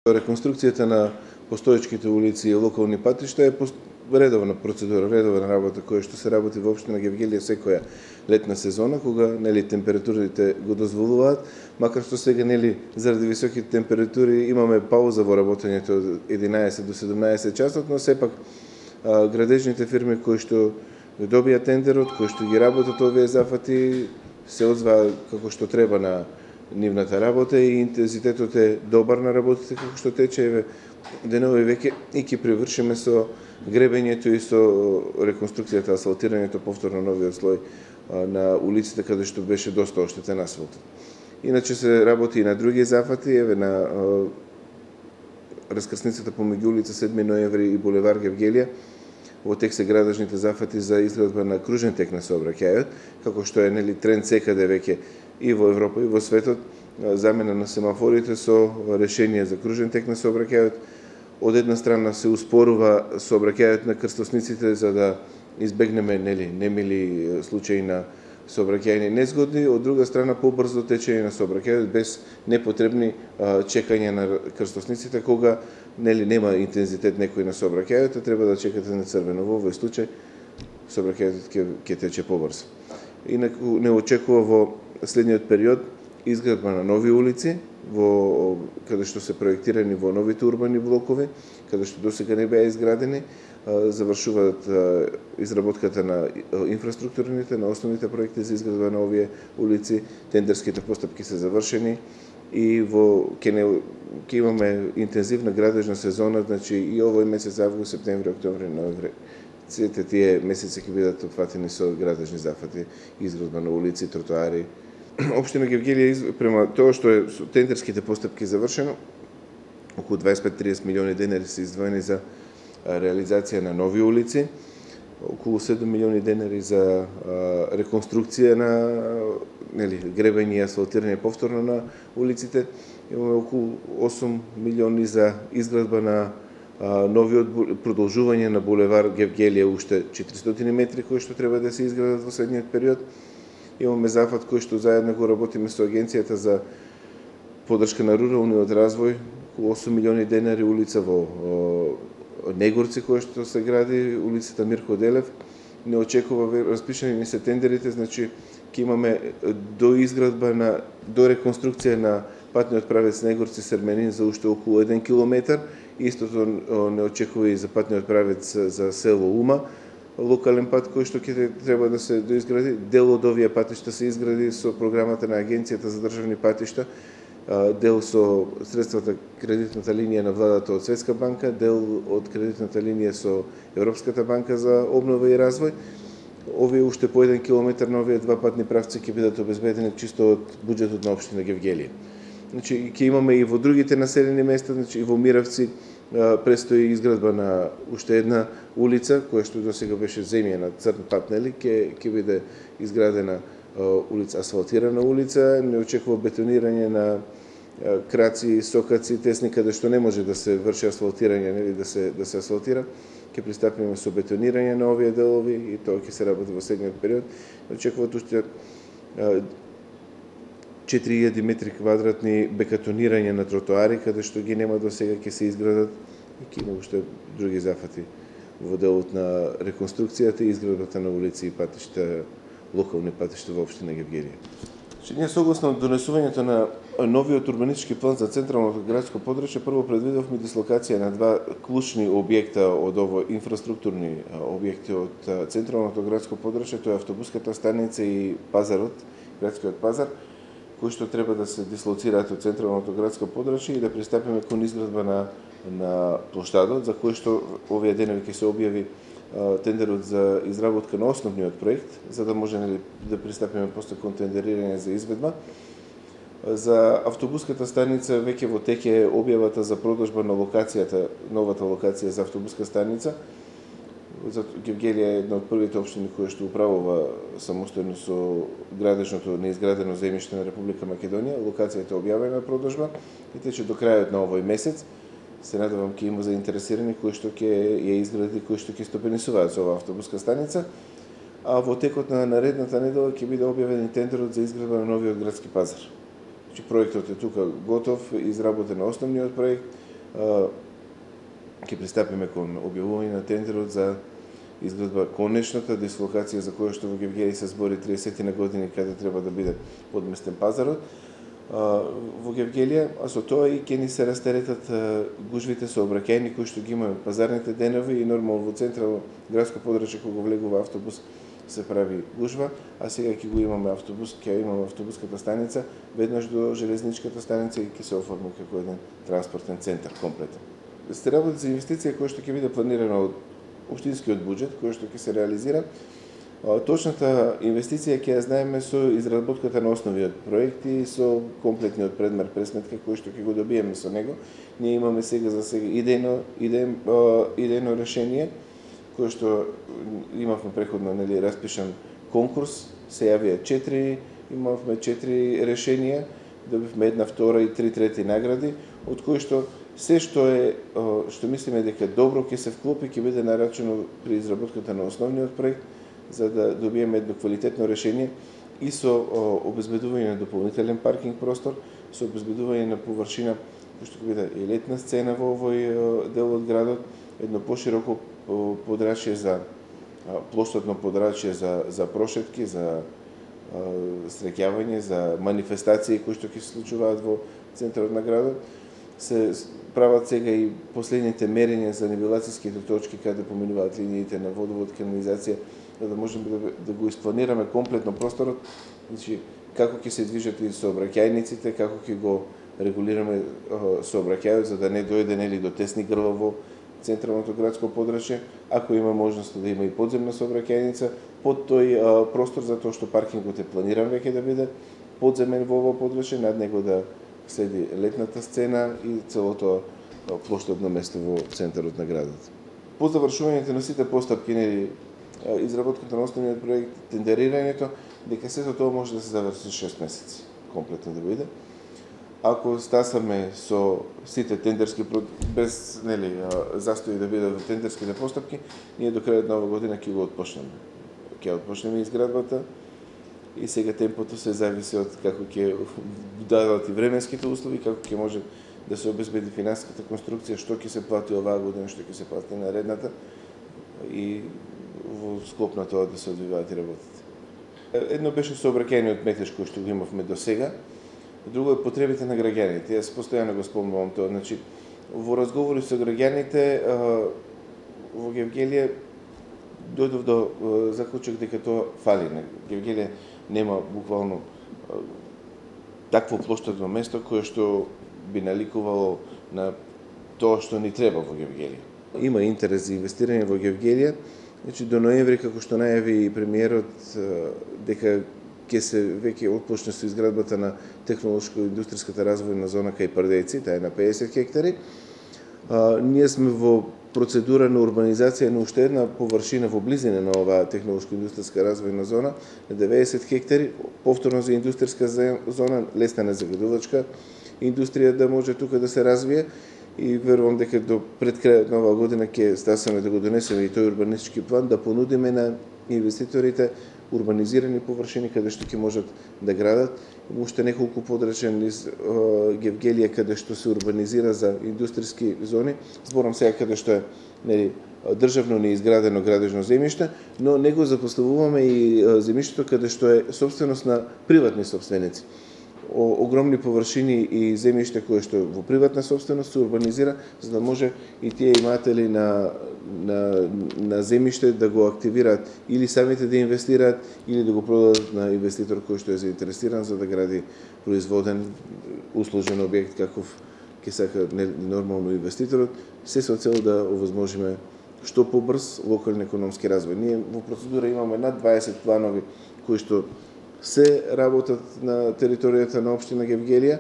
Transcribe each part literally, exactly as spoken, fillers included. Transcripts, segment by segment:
Реконструкцијата на постоечките улици и локални патишта е редовна процедура, редовна работа која што се работи во општина Гевгелија секоја летна сезона, кога нели температурите го дозволуваат, макар што сега нели заради високите температури имаме пауза во работењето од единаесет до седумнаесет часот, но сепак а, градежните фирми кои што добија тендерот, кои што ги работат овие зафати, се озваа како што треба на нивната работа и интензитетот е добар на работите како што тече. Еве денови веќе и ќе привршиме со гребењето и со реконструкцијата, асфалтирањето, повторно новиот слој на улиците каде што беше доста оштетен асфалтот. Иначе се работи и на други зафати, еве на раскрсницата помеѓу улица седми ноември и булевар Гевгелија. Во тек се градежните зафати за изградба на кружен тек на сообраќајот, како што е нели тренд секаде веќе и во Европа и во светот, замена на семафорите со решение за кружен тек на сообраќајот. Од една страна се успорува сообраќајот на крстосниците за да избегнеме нели немили случаи на сообраќајни незгодни, од друга страна побрзо течење на сообраќајот без непотребни чекања на крстосниците кога нели нема интензитет некој на сообраќајот, треба да чекате на црвено. Во овој случај сообраќајот ќе ќе тече побрзо. Инаку не очекува во следниот период изградба на нови улици во каде што се проектирани во новите урбани блокови, каде што досега не беа изградени, завршуваат изработката на инфраструктурните, на основните проекти за изградба на овие улици, тендерските постапки се завршени и во ќе не ќе имаме интензивна градежна сезона, значи и овој месец август, септември, октомври, ноември. Сите тие месеци ќе бидат опфатени со градежни зафати, изградба на улици, тротоари. Општина Гевгелија, према тоа што е со тендерските постапки завршено, околу дваесет и пет до триесет милиони денари се издвоени за реализација на нови улици, околу седум милиони денари за реконструкција на нели гребење и асфалтирање повторно на улиците, имаме околу осум милиони за изградба на новиот продолжување на булевар Гевгелија, уште четиристотини метри кои што треба да се изградат во следниот период. Имаме зафат кој што заедно го работиме со Агенцијата за поддршка на руралниот развој, околу осум милиони денари, улица во Негорци која што се гради, улицата Мирко Делев. Не очекува, распишани не се тендерите, значи ќе имаме до изградба на до реконструкција на патниот правец Негорци Серменин за уште околу еден километар. Истото не очекува и за патниот правец за село Ума, локален пат кој што ќе треба да се доизгради. Дел од овие патишта се изгради со програмата на Агенцијата за државни патишта, дел со средствата кредитната линија на владата од Светска банка, дел од кредитната линија со Европската банка за обнова и развој. Овие уште по еден километар на овие два патни правци ќе бидат обезбедени чисто од буџетот на општина Гевгелија. Значи ќе имаме и во другите населени места, значи и во Миравци престои изградба на уште една улица која што досега беше земјена црн пат, нели ќе ќе биде изградена улица, асфалтирана улица, не очекува бетонирање на краци, сокаци, тесни каде што не може да се врши асфалтирање, нели да се да се асфалтира. Ќе пристапиме со бетонирање на овие делови и тоа ќе се работи во следниот период. Очекуваат уште четири илјади метри квадратни бекатонирање на тротоари, каде што ги нема до сега, ќе се изградат и ќе има уште други зафати во делот на реконструкцијата и изградбата на улици и патишта, локални патишта во општина Гевгелија. Ние согласно донесувањето на новиот урбанистички план за централното градско подрачје, прво предвидовме дислокација на два клучни објекта од ово инфраструктурни објекти од централното градско подрачје, тоа е автобуската станица и пазарот, градскиот пазар, кои што треба да се дислоцираат од централното градско подрачје и да пристапиме кон изградба на на плоштадот, за кој што овие денови ќе се објави тендерот за изработка на основниот проект, за да може нели да пристапиме после кон тендерирање за изведба. За автобуската станица веќе во тек е објавата за продажба на локацијата, новата локација за автобуска станица. Гевгелија е една од првите општини која што управува самостојно со градежното неизградено земјиште на Република Македонија. Локацијата е објавена на продажба и тече до крајот на овој месец. Се надевам ќе има заинтересирани кои што ќе ја изгради, кои што ќе стопенисуваат со оваа автобуска станица. А во текот на наредната недела ќе биде објавен и тендерот за изградба на новиот градски пазар. Значи проектот е тука готов, изработен на основниот проект, ќе пристапиме кон објавување на тендерот за изградба конечната дислокација за која што во Гевгели се збори триесет на години каде треба да биде подместен пазарот во Гевгелија, а со тоа и ќе ни се растеретат гужвите сообраќајни кои што ги имаме пазарните денови и нормално во централно градско подрачје кога влегува автобус се прави гужва, а сега ќе го имаме автобус, ќе имаме автобуската станица веднаш до железничката станица и ќе се оформи како еден транспортен центар комплетен. Се работи за инвестиција која што ќе биде планирана од општинскиот буџет, која што ќе се реализира. Точната инвестиција ќе ја знаеме со изработката на основиот проект и со комплетниот предмер пресметка кој што ќе го добиеме со него. Ние имаме сега за сега идејно идејно идејно решение кој што имавме преходно, нели, распишан конкурс, се јавија четири, имавме четири решенија, добивме една, втора и три трети награди, од кои што се што е што мислиме дека добро ќе се вклопи, ќе биде нарачено при изработката на основниот проект, за да добиеме едно квалитетно решение и со обезбедување на дополнителен паркинг простор, со обезбедување на површина кој што ќе биде и летна сцена во овој дел од градот, едно пошироко подрачје за плоштадно подрачје за за прошетки, за среќавање, за манифестации кои што ќе се случуваат во центарот на градот. Се прават сега и последните мерења за нивелацијските точки каде поминуваат линиите на водовод, канализација, за да можеме да, да го испланираме комплетно просторот, значи како ќе се движат и сообраќајниците, како ќе го регулираме сообраќајот за да не дојде нели до тесни грла во централното градско подрачје, ако има можност да има и подземна сообраќајница под тој а, простор, затоа што паркингот е планиран веќе да биде подземен во ово подрачје, над него да следи летната сцена и целото плоштадно место во центарот на градот. По завршувањето на сите постапки, нели, изработката на основниот проект, тендерирањето, дека сето тоа може да се заврши шест месеци комплетно да биде. Ако стасаме со сите тендерски без, нели, застои да бидат во тендерските постапки, ние до крајот на оваа година ќе го отпочнеме. Ќе отпочнеме изградбата и сега темпото се зависи од како ќе дадат и временските услови, како ќе може да се обезбеди финансиската конструкција, што ќе се плати оваа година, што ќе се плати наредната и во склоп на тоа да се одвиваат и работите. Едно беше сообраќајниот метеж кој што го имавме до сега, друго е потребите на граѓаните. Јас постојано го спомнувам тоа. Значи, во разговори со граѓаните во Гевгелија дојдов до заклучок дека тоа фали. Гевгелија нема буквално такво плоштадно место кое што би наликувало на тоа што ни треба во Гевгелија. Има интерес за инвестирање во Гевгелија. Значи, до ноември, како што најави премиерот, дека ќе се веќе отпочне со изградбата на технолошко-индустријската развојна зона кај Пардејци, таа е на педесет хектари. А, ние сме во процедура на урбанизација на уште една површина во близина на оваа технолошко-индустријска развојна зона на деветдесет хектари, повторно за индустријска зона, лесна незагадувачка индустрија да може тука да се развие и верувам дека до пред крајот на оваа година ќе стасаме да го донесеме и тој урбанистички план да понудиме на инвеститорите урбанизирани површини каде што ќе можат да градат. Има уште неколку подрачја низ Гевгелија каде што се урбанизира за индустријски зони. Зборам сега каде што е, нели, државно неизградено градежно земјиште, но него запоставуваме и земјиштето каде што е собственост на приватни собственици. Огромни површини и земјиште кое што во приватна собственост се урбанизира, за да може и тие иматели на на на земјиште да го активираат или самите да инвестираат или да го продадат на инвеститор кој што е заинтересиран за да гради производен услужен објект каков ќе сака нормално инвеститорот, се со цел да овозможиме што побрз локален економски развој. Ние во процедура имаме над дваесет планови кои што се работат на територијата на општина Гевгелија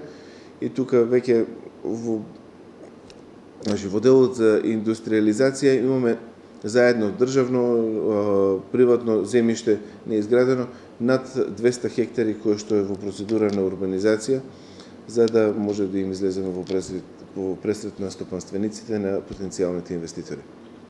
и тука веќе во значи во делот за индустриализација имаме заедно државно приватно земјиште неизградено над двесте хектари кое што е во процедура на урбанизација за да може да им излеземе во пресрет, во пресрет на стопанствениците на потенцијалните инвеститори.